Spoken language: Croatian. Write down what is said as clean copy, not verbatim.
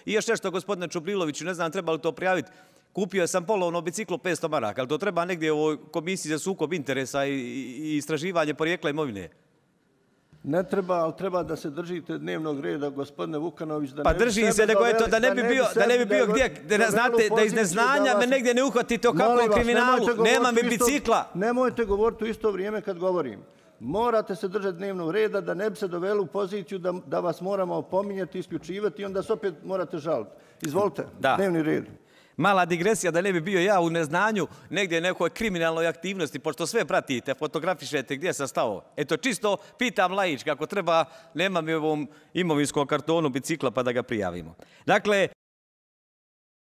I još nešto, gospodine Čubriloviću, ne znam treba li to prijaviti. Kupio sam polovno biciklo 500 maraka, ali to treba negdje u ovoj komisiji za sukob interesa i istraživanje porijekla imovine. Ne treba, ali treba da se držite dnevnog reda, gospodine Vukanović. Pa držim se, nego eto, da ne bi bio gdje, znate, da iz neznanja me negdje ne uhvatite o kakvom kriminalu, nema mi bicikla. Nemojte govoriti u isto vrijeme kad govorim. Morate se držati dnevnog reda da ne bi se doveli u poziciju da vas moramo opominjati, isključivati i onda se opet morate žaliti. Izvolite, dnevni red. Mala digresija da ne bi bio ja u neznanju negdje nekoj kriminalnoj aktivnosti, pošto sve pratite, fotografišete gdje sam stao. Eto, čisto pitam laički, ako treba, nema mi u ovom imovinskom kartonu bicikla pa da ga prijavimo. Dakle,